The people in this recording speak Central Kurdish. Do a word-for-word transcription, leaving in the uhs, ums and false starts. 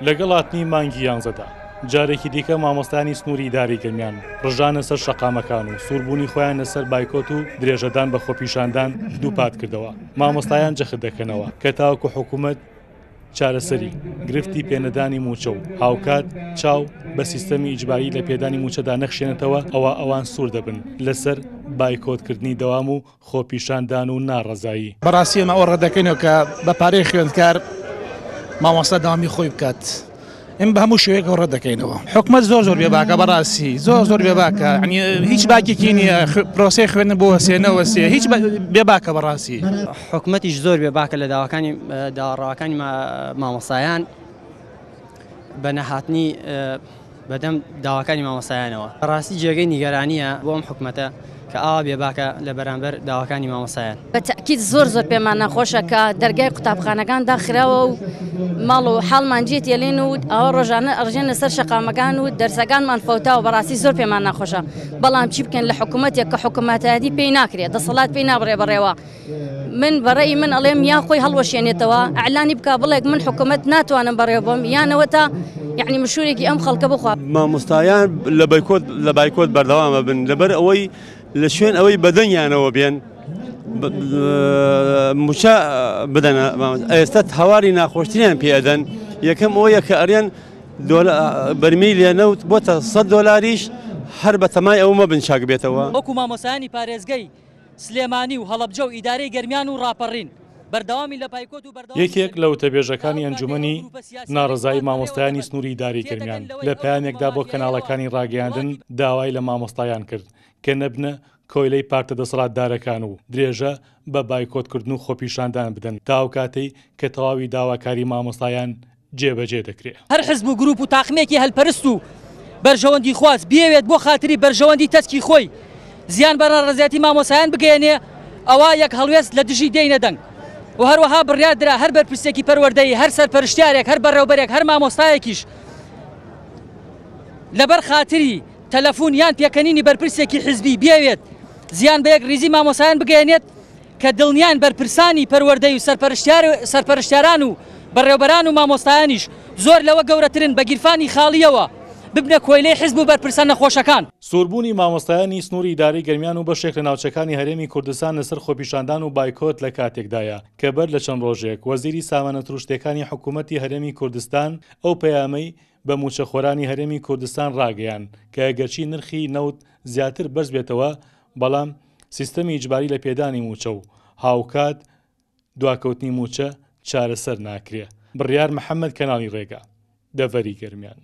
لەگەڵ هاتنی مانگی یانزەدا جارێکی دیکە مامۆستایانی سنووری ئیدارەی گەرمیان ڕژانە سەر شەقامەکان و سووربوونی خۆیان لەسەر بایکۆت و درێژەدان بە خۆپیشاندان دووپات کردەوە. مامۆستایان جەخت دەکەنەوە کە تاوەکو حکوومەت چارەسەری گرفتی پێنەدانی موچە و هاوکات چاو بە سیستەمی ئیجباری لە پێدانی موچەدا نەخشێنێتەوە، ئەوە ئەوان سوور دەبن لەسەر بایکۆتکردنی دەوام و خۆپیشاندان و ناڕەزایی. بەڕاستی ئێمە ئەوە ڕەت دەکەینەوە کە بە پارەی خوێندکار مامۆستا دەوامی خۆی بکات. ئێمە بە هەموو شێوەیەک ئەوە ڕەت دەکەینەوە. حکومەت زۆر زۆر بێباکە، بەڕاستی زۆر زۆر بێباکە، یعنی هیچ باکێکی نییە، پرۆسەی خوێندن بۆ وەسێ نەوەسێ، هیچ بێباکە بەڕاستی. حکومەتیش زۆر بێباکە لە داواکانی داواڕاوەکانی مامۆستایان بە نەهاتنی بەدەم داواکانی مامۆستایانەوە. بەڕاستی جێگەی نیگەرانیە بۆ ئەم حکومەتە کە ئاوا بێباکە لە بەرامبەر داواکانی مامۆستایان. بە تەئکید زۆر زۆر پێمان ناخۆشە کە دەرگای قوتابخانەکان داخراوە و ماڵ و حاڵمان جێ تێلین و ئەوە ڕۆژانە ئەڕژێن لەسەر شەقامەکان و دەرسەکانمان فەوتاوە. بەڕاستی زۆر پێمان ناخۆشە، بەڵام چی بکەن لە حکوومەتێک کە حکوومەتایەتی پێی ناکرێت، دەسەڵات پێی نابڕێ بەڕێوە. من بەڕێی من ئەڵێم یا خۆی هەڵوەشێنێتەوە، ئەعلانی بکە بڵێک من حکوومەت ناتوانم بەڕێوە بم، یانەوە تا یعنی مشوورێکی ئەم خەڵکە بخوا. مامۆستایان لە بایکۆت لە بایکۆت بەردەوامە بن، لەبەر ئەوەی لە شوێن ئەوەی بەدەنگیانەوە بێن موچە بدەنە. ئێستا هەواری ناخۆشتریان پێ ئەدەن. یەکەم ئەوەیە کە ئەرێن بەرمیلێ نەوت بۆتە سەد دۆلاریش، هەر بە تەمای ئەو مەبن چاک بێتەوە. وەکو مامۆستایانی پارێزگەی سلێمانی و هەڵەبجە و ئیدارەی گەرمیان و ڕاپەڕین بەردەوامی لە بایکۆت و بەردەوامی یەکێک لە وتەبێژەکانی ئەنجومەنی ناڕەزایی مامۆستایانی سنووری ئیدارەی گەرمیان لە پەیامێکدا بۆ کەناڵەکانی ڕاگەیاندن داوای لە مامۆستایان کرد کە نەبنە کۆیلەی پارتە دەسەڵاتدارەکان و درێژە بە بایکۆتکردن و خۆپیشاندان بدەن تا ئەو کاتەی کە تەواوی داواکاری مامۆستایان جێبەجێ دەکرێت. هەر حزب و گروپ و تاقمێکی هەلپەرست و بەرژەوەندی خواز بیەوێت بۆ خاتری بەرژەوەندی تەسکی خۆی زیان بە ناڕەزایەتی مامۆستایان بگەیەنێ، ئەوە یەک هەڵوێست لە دژی دێینە دەنگ. و هەروەها بڕیار درا هەر بەرپرسێکی پەروەردەیی، هەر سەرپەرشتیارێک، هەر بەڕێوبەرێک، هەر مامۆستایەکیش لەبەر خاتری تەلەفۆن یان پێکەنینی بەرپرسێکی حزبی بیەوێت زیان بە یەک ریزی مامۆستایان بگەیەنێت، کە دڵنیان بەرپرسانی پەروەردەی و سەرپەرشتیاران و بەڕێوبەران و مامۆستایانیش زۆر لەوە گەورەترن بە گیرفانی خاڵیەوە ببنە کۆیلەی حزب و بەرپرسە نەخۆشەکان. سووربوونی مامۆستایانی سنووری ئیدارەی گەرمیان و بەشێک لە ناوچەکانی هەرێمی کوردستان لەسەر خۆپیشاندان و بایکۆت لە کاتێکدایە کە بەر لە چەند ڕۆژێک وەزیری سامانە سروشتیەکانی حکوومەتی هەرێمی کوردستان ئەو پەیامەی بە موچەخۆرانی هەرێمی کوردستان ڕاگەیان کە ئەگەرچی نرخی نەوت زیاتر بەرز بێتەوە، بەڵام سیستەمی ئیجباری لە پێدانی موچە و هاوکات دواکەوتنی موچە چارەسەر ناکرێ. بڕیار محەممەد، کەناڵی ڕێگا، دەڤەری گەرمیان.